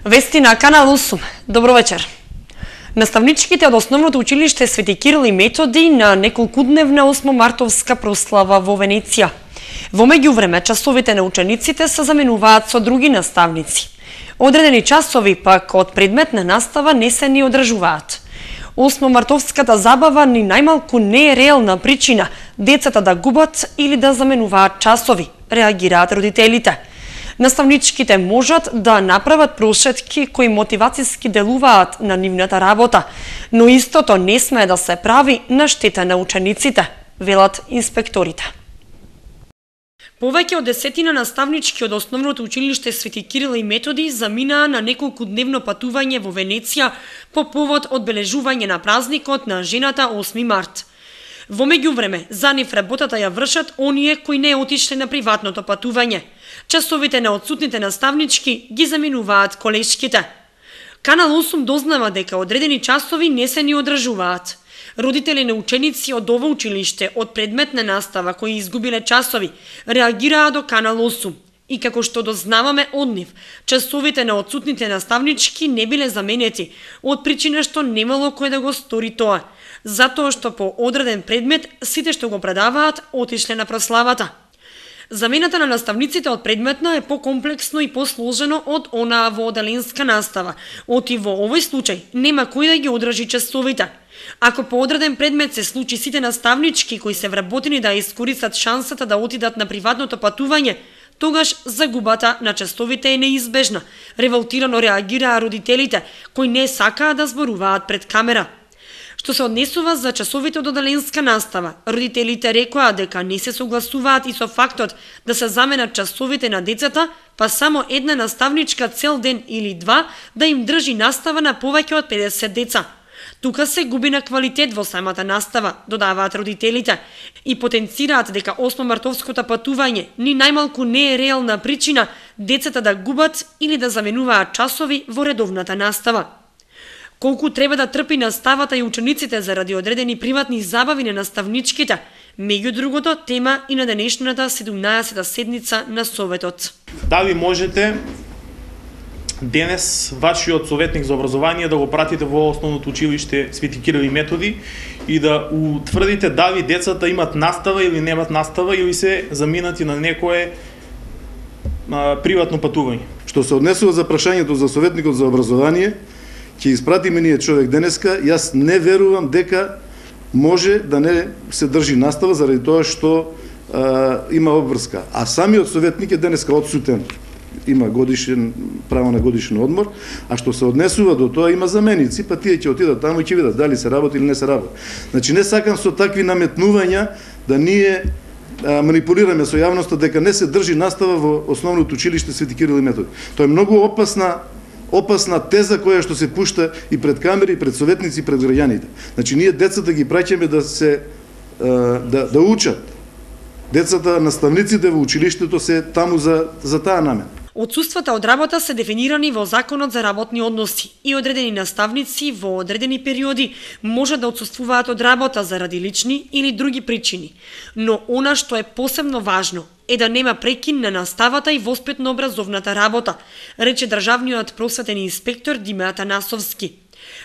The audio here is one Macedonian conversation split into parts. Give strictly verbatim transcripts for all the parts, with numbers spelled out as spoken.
Вести на Канал осум. Добро вечер. Наставничките од Основното училиште Свети Кирил и Методи на неколкудневна осмомартовска прослава во Венеција. Во меѓувреме, часовите на учениците се заменуваат со други наставници. Одредени часови пак од предметна настава не се ни одржуваат. Осмомартовската забава ни најмалку не е реална причина децата да губат или да заменуваат часови, реагираат родителите. Наставничките можат да направат прошетки кои мотивацијски делуваат на нивната работа, но истото не смее да се прави на штета на учениците, велат инспекторите. Повеќе од десетина наставнички од Основното училиште Свети Кирил и Методи заминаа на неколкудневно патување во Венеција по повод одбележување на празникот на жената осми март. Во меѓувреме, за нив работата ја вршат оние кои не отишле на приватното патување. Часовите на отсутните наставнички ги заминуваат колешките. Канал осум дознава дека одредени часови не се ни одржуваат. Родители на ученици од ова училиште од предметна настава кои изгубиле часови реагираа до Канал осум. И како што дознаваме од нив, часовите на отсутните наставнички не биле заменети, од причина што немало кој да го стори тоа, затоа што по одреден предмет сите што го предаваат отишле на прославата. Замената на наставниците од предметна е покомплексно и посложено од онаа во оделенска настава, оти во овој случај нема кој да ги одржи часовите. Ако по одреден предмет се случи сите наставнички кои се вработени да искористат шансата да отидат на приватното патување, тогаш загубата на часовите е неизбежна. Револтирано реагираа родителите, кои не сакаа да зборуваат пред камера. Што се однесува за часовите од оделенска настава, родителите рекоа дека не се согласуваат и со фактот да се заменат часовите на децата, па само една наставничка цел ден или два да им држи настава на повеќе од педесет деца. Тука се губи на квалитет во самата настава, додаваат родителите, и потенцираат дека осмомартовското патување ни најмалку не е реална причина децата да губат или да заменуваат часови во редовната настава. Колку треба да трпи наставата и учениците заради одредени приватни забави на наставничките, меѓу другото тема и на денешната седумнаесета седница на Советот. Дали можете денес вашиот советник за образование да го пратите во Основното училиште Свети Кирил и Методи и да утврдите дали децата имат настава или немат настава или се заминати на некое а, приватно патување. Што се однесува за прашањето за советникот за образование, ќе испратиме ние човек денеска, јас не верувам дека може да не се држи настава заради тоа што а, има обврска. А самиот советник е денеска отсутен. Има годишен право на годишен одмор, а што се однесува до тоа има заменици, па тие ќе отидат таму и ќе видат дали се работи или не се работи. Значи не сакам со такви наметнувања да ние а, манипулираме со јавноста дека не се држи настава во Основното училиште Свети Кирил и Методи. Тоа е многу опасна опасна теза која што се пушта и пред камери, и пред советници, и пред граѓаните. Значи ние децата ги праќаме да се да да учат. Децата, наставниците во училиштето се таму за за таа намена. Отсуствата од работа се дефинирани во Законот за работни односи и одредени наставници во одредени периоди може да отсуствуваат од работа заради лични или други причини. Но она што е посебно важно е да нема прекин на наставата и воспитно-образовната работа, рече државниот просветен инспектор Диме Атанасовски.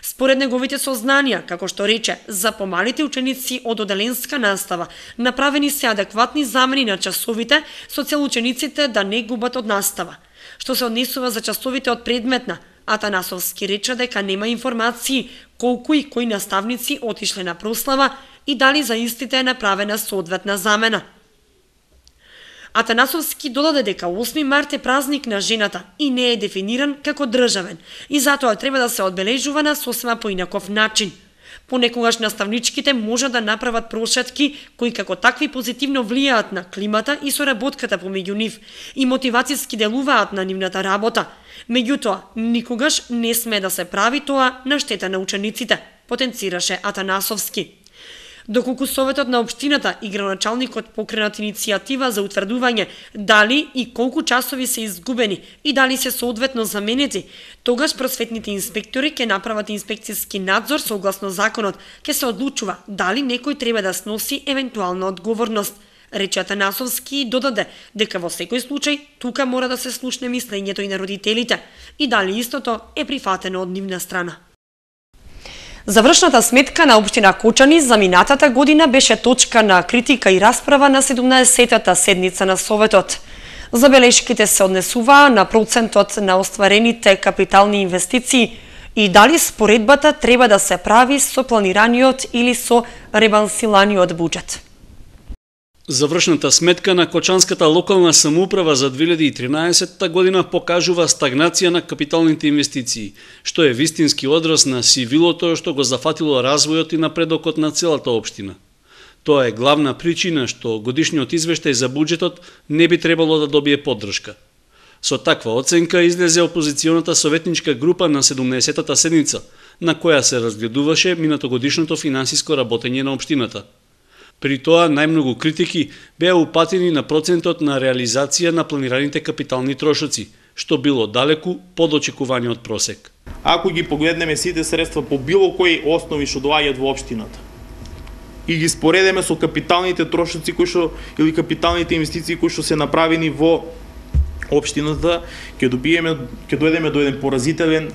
Според неговите сознанија, како што рече, за помалите ученици од оделенска настава направени се адекватни замени на часовите со цел учениците да не губат од настава. Што се однесува за часовите од предметна, Атанасовски рече дека нема информации колку и кои наставници отишле на прослава и дали за истите е направена соодветна замена. Атанасовски додаде дека осми март е празник на жената и не е дефиниран како државен и затоа треба да се одбележува на сосема поинаков начин. Понекогаш наставничките може да направат прошетки кои како такви позитивно влијаат на климата и соработката помеѓу нив и мотивацијски делуваат на нивната работа. Меѓутоа, никогаш не смее да се прави тоа на штета на учениците, потенцираше Атанасовски. Доколку Советот на општината и градоначалникот покренат иницијатива за утврдување дали и колку часови се изгубени и дали се соодветно заменети, тогаш просветните инспектори ќе направат инспекцијски надзор согласно законот, ќе се одлучува дали некој треба да сноси евентуална одговорност, Рече Атанасовски додаде дека во секој случај тука мора да се слушне мислењето и на родителите и дали истото е прифатено од нивна страна. Завршната сметка на општина Кочани за минатата година беше точка на критика и расправа на седумнаесеттата седница на Советот. Забелешките се однесуваа на процентот на остварените капитални инвестиции и дали споредбата треба да се прави со планираниот или со ребалансираниот буџет. Завршната сметка на Кочанската локална самоуправа за две илјади и тринаесетта година покажува стагнација на капиталните инвестиции, што е вистински одраз на сивилото што го зафатило развојот и напредокот на целата општина. Тоа е главна причина што годишниот извештај за буџетот не би требало да добие поддршка. Со таква оценка излезе опозиционата советничка група на седумнаесеттата седница, на која се разгледуваше минатогодишното финансиско работење на општината. При тоа најмногу критики беа упатени на процентот на реализација на планираните капитални трошоци, што било далеку под очекуваниот просек. Ако ги погледнеме сите средства по било кои основи што доаѓаат во општината и ги споредеме со капиталните трошоци кои што или капиталните инвестиции кои што се направени во општината, ќе добиеме ќе дојдеме до еден поразителен е,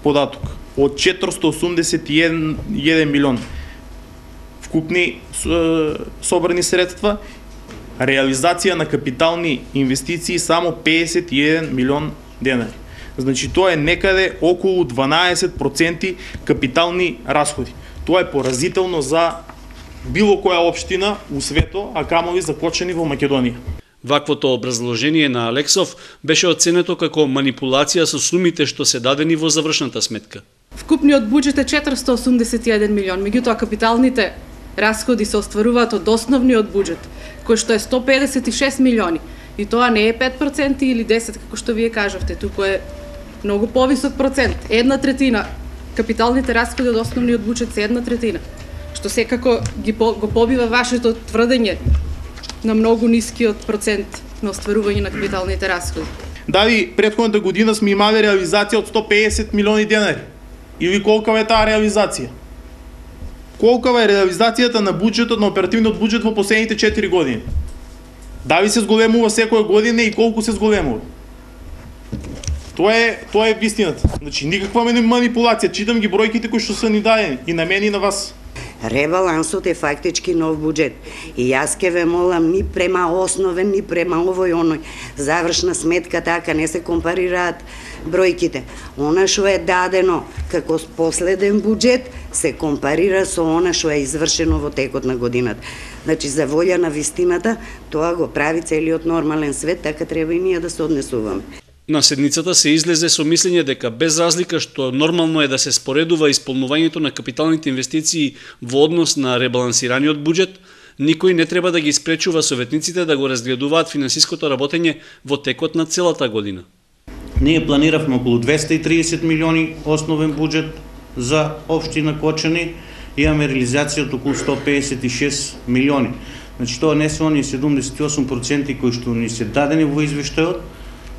податок од четиристотини осумдесет и еден милион вкупни собрани средства, реализација на капитални инвестиции само педесет и еден милион денари. Значи тоа е некаде околу дванаесет проценти капитални расходи. Тоа е поразително за било која општина у свето, а камови за Кочани во Македонија. Ваквото образложение на Алексов беше оценето како манипулација со сумите што се дадени во завршната сметка. Вкупниот буџет е четиристотини осумдесет и еден милион, меѓутоа капиталните расходи се остваруваат од основниот буџет, кој што е сто педесет и шест милиони. И тоа не е пет проценти или десет, како што вие кажавте, туку е многу повисок процент. Една третина капиталните расходи од основниот буџет се една третина, што секако ги по, го побива вашето тврдење на многу нискиот процент на остварување на капиталните расходи. Дали претходната година сме имали реализација од сто педесет милиони денари? Или колкава е таа реализација? Колкава е реализацијата на буџетот, на оперативниот буџет во последните четири години? Дали се зголемува секоја година и колку се зголемува? Тоа е, тоа е вистината. Значи, никаква манипулација. Читам ги бројките кои што се ни дадени и на мене и на вас. Ребалансот е фактички нов буџет. И јас ке ве молам ни према основен, ни према овој оној. Завршна сметка така не се компарираат бројките. Она што е дадено како последен буџет се компарира со она што е извршено во текот на годината. Значи, за волја на вистината, тоа го прави целиот нормален свет, така треба и ние да се однесуваме. На седницата се излезе со мислење дека без разлика што нормално е да се споредува исполнувањето на капиталните инвестиции во однос на ребалансираниот буџет, никој не треба да ги спречува советниците да го разгледуваат финансиското работење во текот на целата година. Ние планиравме околу двесте и триесет милиони основен буџет за општина Кочани, имаме реализација од околу сто педесет и шест милиони. Значи тоа не се оние седумдесет и осум проценти кои што ни се дадени во извештајот,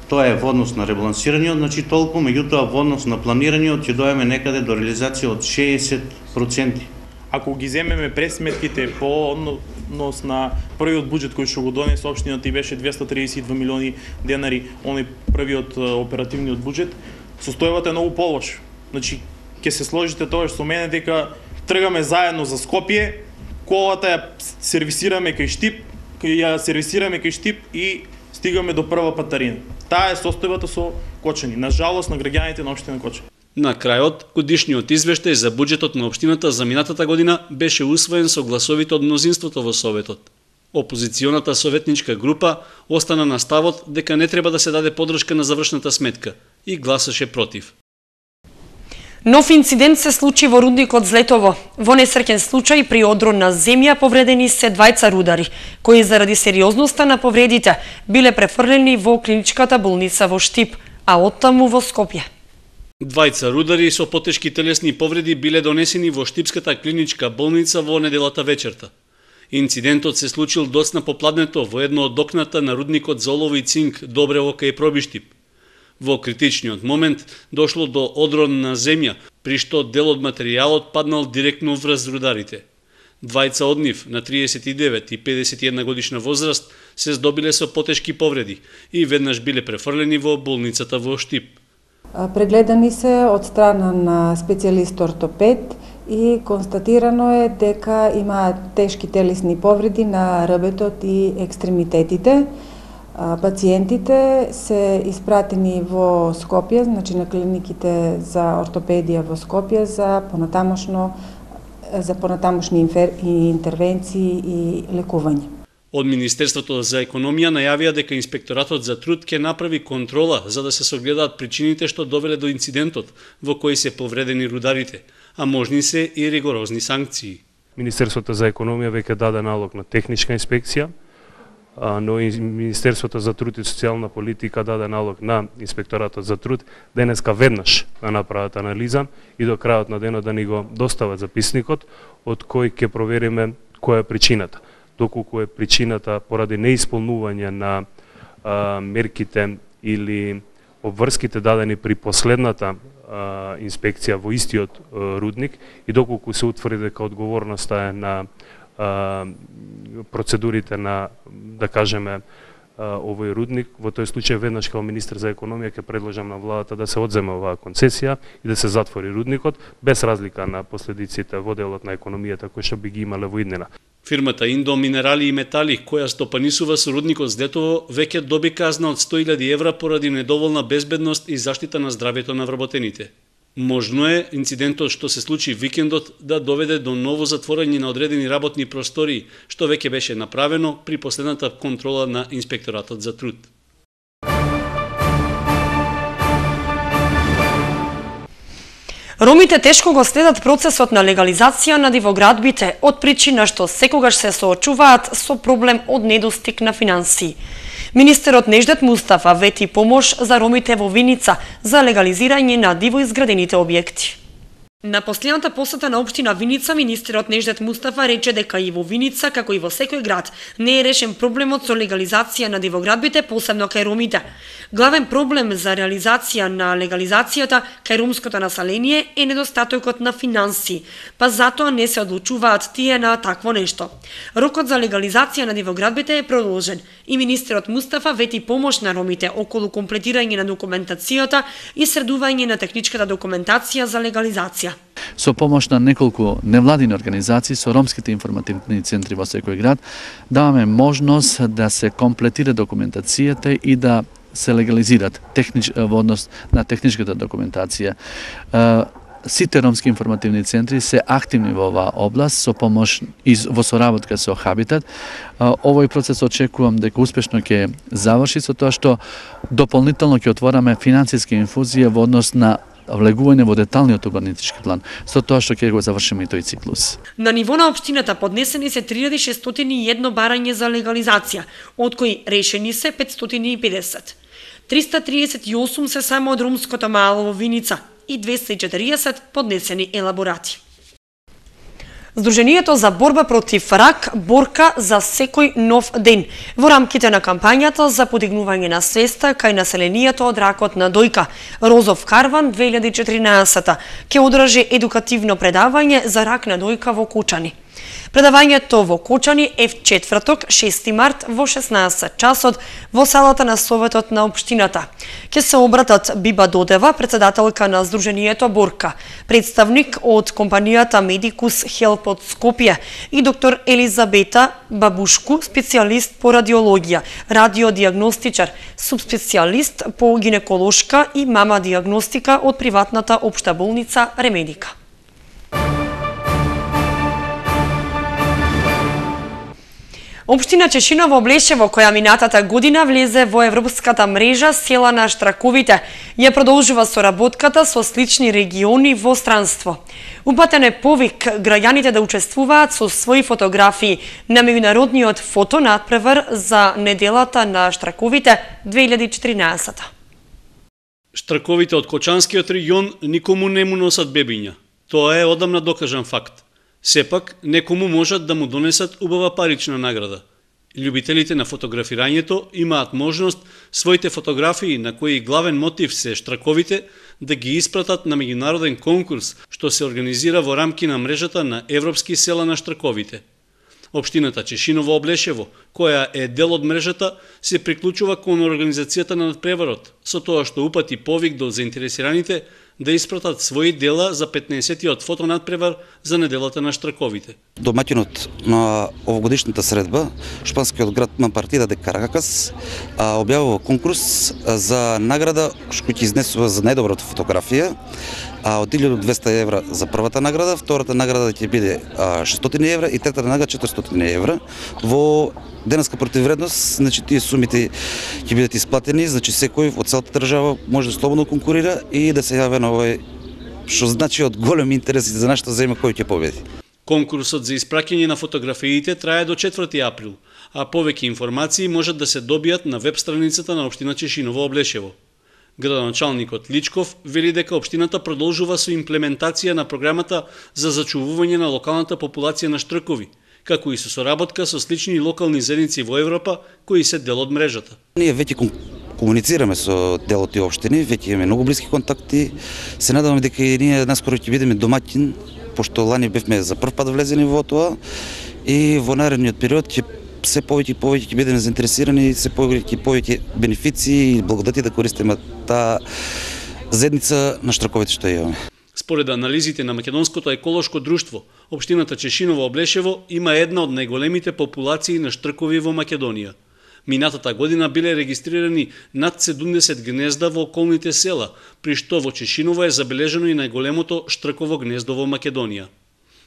тоа е во однос на ребалансираниот, значи толку, меѓутоа во однос на планираниот ќе дојдеме некаде до реализација од шеесет проценти. Ако ги земеме пресметките по однос на првиот буџет кој што го донесе општината и беше двесте триесет и два милиони денари, оној првиот оперативниот буџет, состојбата е многу полош. Значи, ќе се сложите тоа што со мене дека тргаме заедно за Скопје, колата ја сервисираме кај Штип, ја сервисираме кај Штип и стигаме до прва патарина. Таа е состојбата со Кочани, на жалост на граѓаните на општина Кочани. На крајот, годишниот извештај за буџетот на општината за минатата година беше усвоен со гласовите од мнозинството во Советот. Опозиционата советничка група остана на ставот дека не треба да се даде поддршка на завршната сметка и гласаше против. Нов инцидент се случи во рудникот Злетово. Во несреќен случај при одрон на земја повредени се двајца рудари, кои заради сериозноста на повредите биле префрлени во клиничката болница во Штип, а оттаму во Скопје. Двајца рудари со потешки телесни повреди биле донесени во Штипската клиничка болница во неделата вечерта. Инцидентот се случил доцна попладнето во едно од окната на рудникот за олово и цинк Добрево кај Пробиштип. Во критичниот момент дошло до одрон на земја, при што дел од материјалот паднал директно врз рударите. Двајца од нив, на триесет и девет и педесет и една годишна возраст, се здобиле со потешки повреди и веднаш биле префрлени во болницата во Штип. Прегледани се од страна на специјалист ортопед и констатирано е дека имаат тешки телесни повреди на рбетот и екстремитетите. Пациентите се испратени во Скопје, значи на клиниките за ортопедија во Скопје за понатамошно за понатамошни интервенции и лекување. Од Министерството за економија најавија дека Инспекторатот за труд ќе направи контрола за да се согледаат причините што довеле до инцидентот во кој се повредени рударите, а можни се и ригорозни санкции. Министерството за економија веќе даде налог на техничка инспекција, но и Министерството за труд и социјална политика даде налог на Инспекторатот за труд денеска веднаш да направат анализа и до крајот на денот да ни го достават записникот од кој ќе провериме која е причината. Доколку е причината поради неисполнување на а, мерките или обврските дадени при последната а, инспекција во истиот а, рудник и доколку се утврди дека одговорноста е на а, процедурите на, да кажеме, а, овој рудник, во тој случај веднаш како министер за економија ќе предложам на владата да се одземе оваа концесија и да се затвори рудникот без разлика на последиците во делот на економијата кои што би ги имале во иднина. Фирмата Индо Минерали и Метали, која стопанисува со рудникот Здетово, веќе доби казна од сто илјади евра поради недоволна безбедност и заштита на здравјето на вработените. Можно е инцидентот што се случи викендот да доведе до ново затворање на одредени работни простории, што веќе беше направено при последната контрола на Инспекторатот за труд. Ромите тешко го следат процесот на легализација на дивоградбите од причина што секогаш се соочуваат со проблем од недостиг на финансии. Министерот Неждет Мустафа вети помош за ромите во Виница за легализирање на дивоизградените објекти. На последната посета на општина Виница, министерот Неждет Мустафа рече дека и во Виница, како и во секој град, не е решен проблемот со легализација на дивоградбите, посебно кај ромите. Главен проблем за реализација на легализацијата кај ромското население е недостатокот на финансии, па затоа не се одлучуваат тие на такво нешто. Рокот за легализација на дивоградбите е продолжен и министерот Мустафа вети помош на ромите околу комплетирање на документацијата и средување на техничката документација за легализација. Со помош на неколку невладини организации со ромските информативни центри во секој град даваме можност да се комплетира документацијата и да се легализират технич, во однос на техничката документација. Сите ромски информативни центри се активни во оваа област со помош и во соработка со Хабитат. Овој процес очекувам дека успешно ќе заврши со тоа што дополнително ќе отвораме финансиска инфузија во однос на влегување во деталниот урбанистички план, со тоа што ќе го завршиме и тој циклус. На ниво на општината поднесени се три илјади шестстотини и едно барање за легализација, од кои решени се петстотини и педесет. триста триесет и осум се само од ромското мало во Виница и двеста и четириесет поднесени елаборати. Сдруженијето за борба против рак борка за секој нов ден во рамките на кампањата за подигнување на свеста кај населението од ракот на дојка. Розов карван две илјади и четиринаесета ќе одржи едукативно предавање за рак на дојка во Кучани. Предавањето во Кучани е в четврток, шести март во шеснаесет часот во салата на Советот на општината. Ќе се обратат Биба Додева, председателка на Сдруженијето Борка, представник од компанијата Медикус Хелп од Скопје и доктор Елизабета Бабушку, специјалист по радиологија, радиодиагностичар, субспецијалист по гинеколошка и мама диагностика од приватната општа болница Ремедика. Општина Чешиново Блешево, која минатата година влезе во европската мрежа Села на штраковите, ја продолжува соработката со слични региони во странство. Упатен е повик граѓаните да учествуваат со своји фотографии на меѓународниот фотонадпревар за неделата на штраковите две илјади и четиринаесета. Штраковите од Кочанскиот регион никому не му носат бебиња. Тоа е одамна докажан факт. Сепак, некому можат да му донесат убава парична награда. Љубителите на фотографирањето имаат можност своите фотографии на кои главен мотив се штраковите да ги испратат на меѓународен конкурс што се организира во рамки на мрежата на Европски села на штраковите. Општината Чешиново Облешево, која е дел од мрежата, се приклучува кон организацијата на надпреварот, со тоа што упати повик до заинтересираните да испратат своји дела за петнаесеттиот фотонадпревар за неделата на штраковите. Домаќинот на овогодишната средба, шпанскиот град Мампартида де Каракас, објавува конкурс за награда што ќе изнесува за најдобрата фотографија, од илјада до двесте евра за првата награда, втората награда ќе биде шестстотини евра и третата награда четиристотини евра. Во денеска противвредност, значи тие сумите ќе бидат исплатени, значи секој од целата држава може да слободно конкурира и да се јави на овој, што значи од голем интерес за нашата земја кој ќе победи. Конкурсот за испраќање на фотографиите трае до четврти април, а повеќе информации можат да се добијат на веб страницата на општина Чешиново Облешево. Градоначалникот Личков вели дека општината продолжува со имплементација на програмата за зачувување на локалната популација на штркови, како и со соработка со слични локални заедници во Европа кои се дел од мрежата. Ние веќе комуницираме со дел од тие општини, веќе имаме многу блиски контакти. Се надеваме дека и ние наскоро ќе бидеме домаќин, пошто лани бевме за прв пат влезени во тоа и во наредниот период ќе се повеќе и повеќе ќе бидеме заинтересирани, се повеќе и повеќе бенефиции и благодати да користиме таа заедница на штраковите што имаме. Според анализите на Македонското еколошко друштво, општината Чешиново Облешево има една од најголемите популации на штркови во Македонија. Минатата година биле регистрирани над седумдесет гнезда во околните села, при што во Чешиново е забележено и најголемото штрково гнездо во Македонија.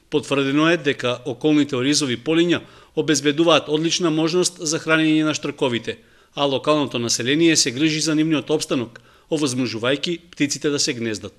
Потврдено е дека околните оризови полиња обезбедуваат одлична можност за хранење на штрковите, а локалното население се грижи за нивниот опстанок, овозможувајќи птиците да се гнездат.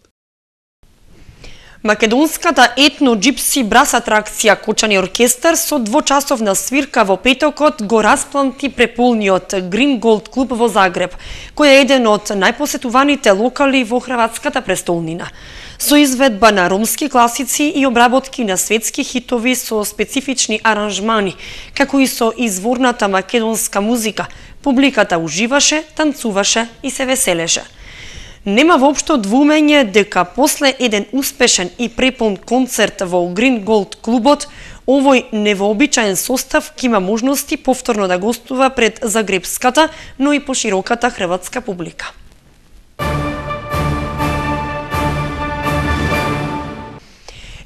Македонската етно-джипси брас атракција Кочани оркестар со двочасовна свирка во петокот го распланти преполниот Green Gold клуб во Загреб, кој е еден од најпосетуваните локали во хрватската престолнина. Со изведба на ромски класици и обработки на светски хитови со специфични аранжмани, како и со изворната македонска музика, публиката уживаше, танцуваше и се веселеше. Нема воопшто двумење дека после еден успешен и препон концерт во Green Gold клубот, овој невообичаен состав ќе има можности повторно да гостува пред загребската, но и пошироката хрватска публика.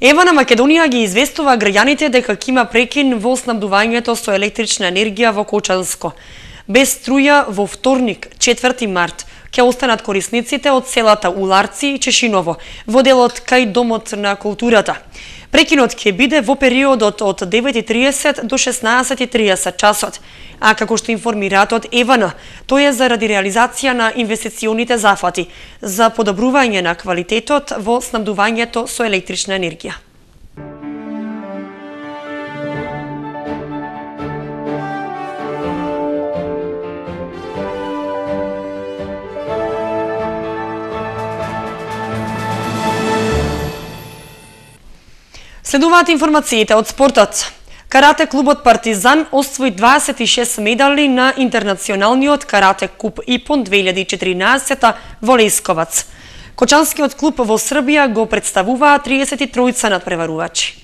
Ева на Македонија ги известува граѓаните дека ќе има прекин во снабдувањето со електрична енергија во Кочанско. Без струја во вторник, четврти март, ќе останат корисниците од селата Уларци и Чешиново, во делот кај Домот на културата. Прекинот ќе биде во периодот од девет и триесет до шеснаесет и триесет часот, а како што информираат од Евана, тој е заради реализација на инвестиционите зафати за подобрување на квалитетот во снабдувањето со електрична енергија. Следуваат информациите од спортот. Карате клубот Партизан освои дваесет и шест медали на интернационалниот карате куп ИПОН две илјади и четиринаесета во Лесковац. Кочанскиот клуб во Србија го представуваа триесет и тројца надпреварувачи.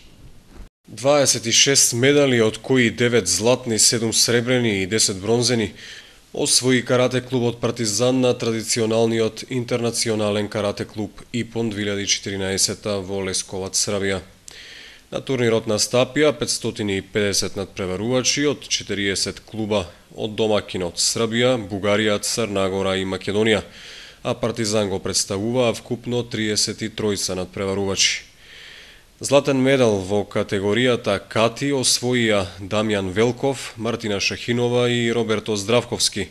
дваесет и шест медали, од кои девет златни, седум сребрени и десет бронзени, освои карате клубот Партизан на традиционалниот интернационален карате клуб ИПОН две илјади и четиринаесета во Лесковац, Србија. На турнирот настапија петстотини и педесет надпреварувачи од четириесет клуба од домакинот Србија, Бугарија, Црна Гора и Македонија, а Партизан го представуваа вкупно триесет и тројца надпреварувачи. Златен медал во категоријата Кати освоија Дамјан Велков, Мартина Шахинова и Роберто Здравковски,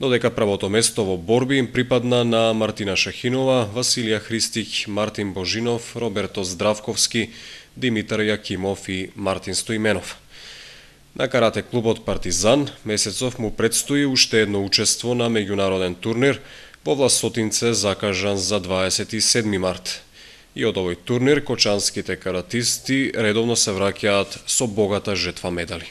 додека првото место во борби им припадна на Мартина Шахинова, Василија Христик, Мартин Божинов, Роберто Здравковски, Димитар Јакимов и Мартин Стоименов. На карате клубот Партизан месецов му предстои уште едно учество на меѓународен турнир во Власотинце закажан за дваесет и седми март. И од овој турнир кочанските каратисти редовно се враќаат со богата жетва медали.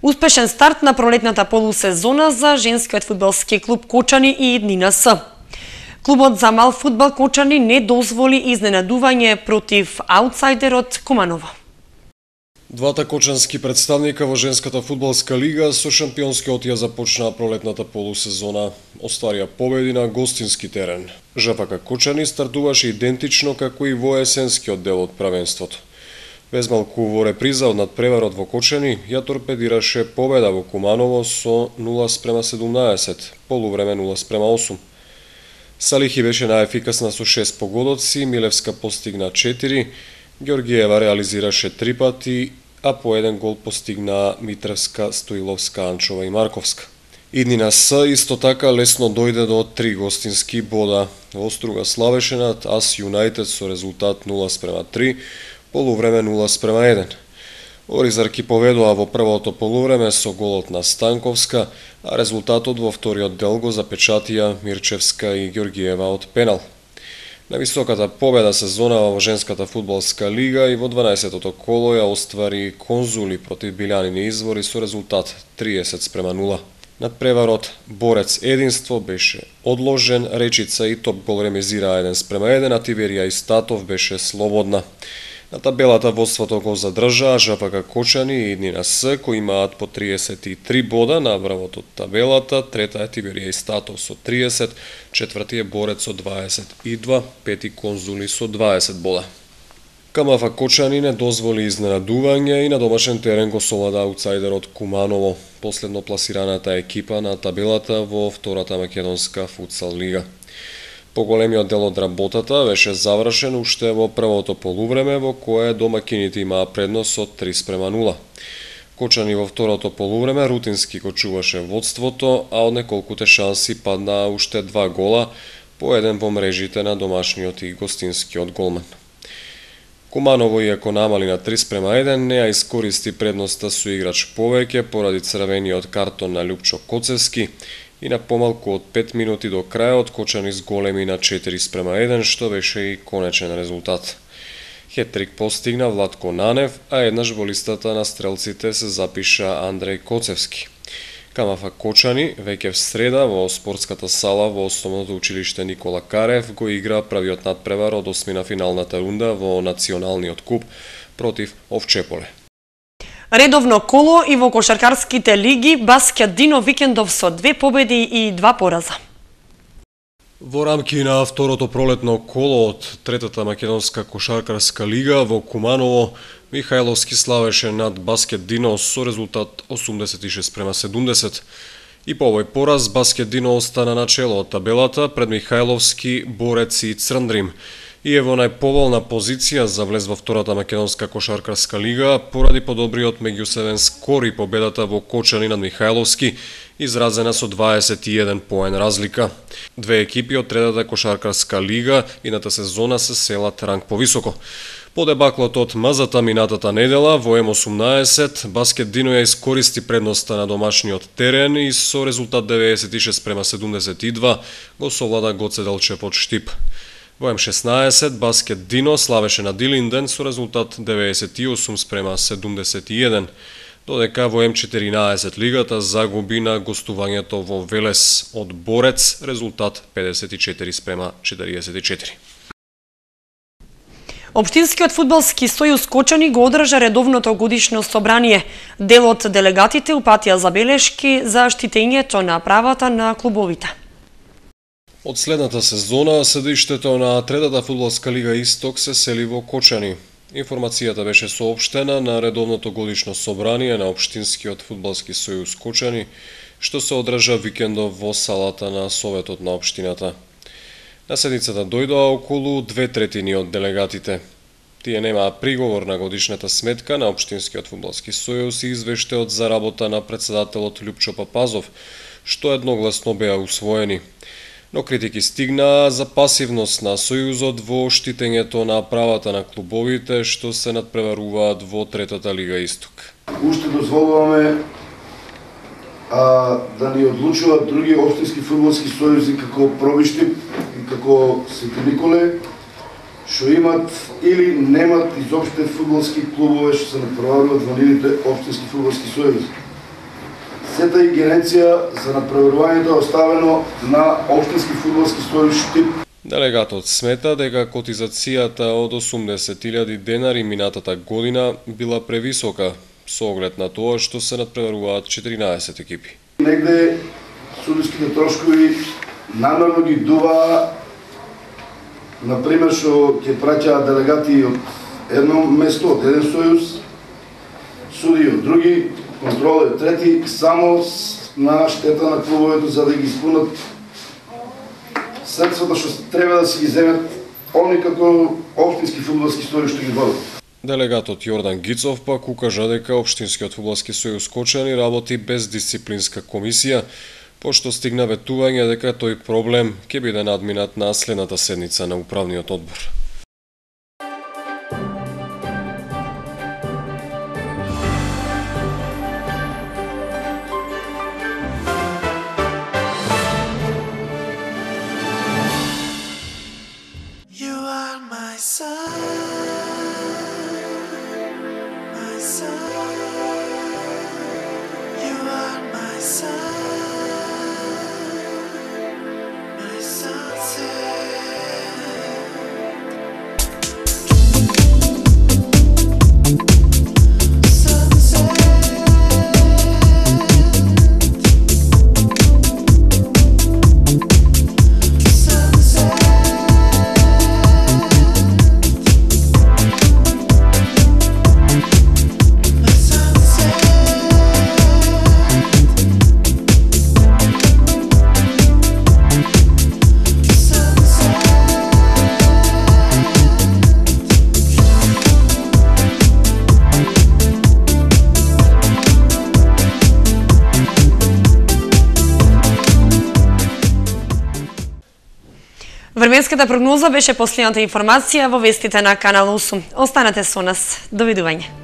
Успешен старт на пролетната полусезона за женскиот фудбалски клуб Кочани и Иднина С. Клубот за мал фудбал Кочани не дозволи изненадување против аутсайдерот Куманово. Двата кочански представника во женската фудбалска лига со шампионскиот ја започнаа пролетната полусезона. Остварија победи на гостински терен. ЖФК Кочани стартуваше идентично како и во есенскиот дел од правенството. Без малку во реприза од надпреварот во Кочани ја торпедираше победа во Куманово со нула спрема седумнаесет, полувреме нула спрема осум. Салихи беше најефикасна со шест погодоци, Милевска постигна четири, Ѓоргиева реализираше три пати, а по еден гол постигна Митревска, Стоиловска, Анчова и Марковска. Иднина С исто така лесно дојде до три гостински бода. Оструга славеше над Ас Юнајтед со резултат нула спрема три, полувреме нула спрема еден. Оризарки поведоа во првото полувреме со голот на Станковска, а резултатот во вториот дел го запечатија Мирчевска и Ѓоргиева од пенал. На високата победа сезонава во женската фудбалска лига и во дванаесеттото коло ја оствари Конзули против Билјанини Извори со резултат триесет спрема нула. Надпреварот Борец Единство беше одложен, Речица и Топ гол ремизираа еден спрема еден, а Тиверија и Статов беше слободна. На табелата водството го задржаа ЖФК Кочани и Иднина С, кои имаат по триесет и три бода на врвот од табелата, трета е Тиверија и Статов со триесет, четврти е Борец со дваесет и два, пети Конзули со дваесет бода. КМФ Кочани не дозволи изненадување и на домашен терен го совлада аутсайдерот Куманово, последно пласираната екипа на табелата во втората македонска футсал лига. Поголемиот дел од работата беше завршен уште во првото полувреме, во кое домакините имаа предност од три спрема нула. Кочани во второто полувреме рутински го чуваше водството, а од неколкуте шанси паднаа уште два гола, по еден во мрежите на домашниот и гостинскиот голман. Куманово, иако намали на три спрема еден, не ја искористи предноста со играч повеќе поради црвениот картон на Љупчо Коцевски, и на помалку од пет минути до крајот Кочани зголеми на четири спрема еден, што беше и конечен резултат. Хетрик постигна Владко Нанев, а еднаш во листата на стрелците се запиша Андреј Коцевски. КМФ Кочани веќе в среда во спортската сала во Основното училиште Никола Карев го игра првиот надпревар од осмина финалната рунда во националниот куп против Овчеполе. Редовно коло и во кошаркарските лиги, Баскет Дино викендов со две победи и два пораза. Во рамки на второто пролетно коло од третата македонска кошаркарска лига во Куманово, Михајловски славеше над Баскет Дино со резултат осумдесет и шест спрема седумдесет. И по овој пораз Баскет Дино остана на чело од табелата пред Михајловски, Борец и Црндрим. И е во најповолна позиција за влез во втората македонска кошаркарска лига поради подобриот меѓусебен скор и победата во Кочани над Михајловски, изразена со дваесет и еден поен разлика. Две екипи од третата кошаркарска лига ината сезона се селат ранг повисоко. По дебаклот од Мазата минатата недела во Ем осумнаесет, Баскет Дино ја искористи предноста на домашниот терен и со резултат деветдесет и шест спрема седумдесет и два го совлада Гоце Делчев од Штип. Во Ем шеснаесет, Баскет Дино славеше на Дилинден со резултат деветдесет и осум спрема седумдесет и еден, додека во Ем четиринаесет лигата загуби на гостувањето во Велес од Борец, резултат педесет и четири спрема четириесет и четири. Општинскиот фудбалски сојуз Кочани го одржа редовното годишно собрание. Дел од делегатите упатија забелешки за штитењето на правата на клубовите. Од следната сезона, седиштето на третата фудбалска лига Исток се сели во Кочани. Информацијата беше соопштена на редовното годишно собрание на Општинскиот фудбалски сојуз Кочани, што се одржа викендов во салата на Советот на Општината. На седницата дојдоа околу две третини од делегатите. Тие немаа приговор на годишната сметка на Општинскиот фудбалски сојуз и извештајот за работа на председателот Љупчо Папазов, што едногласно беа усвоени. Но критики стигнаа за пасивност на Сојузот во штитењето на правата на клубовите што се надпреваруваат во третата лига Исток. Уште дозволуваме а, да ни одлучуваат други општински фудбалски сојузи како Пробиштип и како Свети Николе, што имат или немат изопште фудбалски клубове што се надпреваруваат во нивните општински фудбалски сојузи. сета ингеренција за надпреварувањето е оставено на општински фудбалски сојуз Штип. Делегатот смета дека котизацијата од осумдесет илјади денари минатата година била превисока со оглед на тоа што се надпреваруваат четиринаесет екипи. Негде судиските трошкови намерно ги дува, например, што ќе праќаат делегати од едно место, од еден сојуз, суди од други, контрол е трети, само на штета на клубовето за да ги исполнат средствата што треба да си ги земат они како општински фудбалски сојуз што ги водат. Делегатот Јордан Гицов пак укажа дека Општинскиот фудбалски сојуз Кочани работи без дисциплинска комисија, пошто стигна ветување дека тој проблем ќе биде надминат на следната седница на управниот одбор. Временската прогноза беше последната информација во вестите на Канал осум. Останете со нас. Довидување.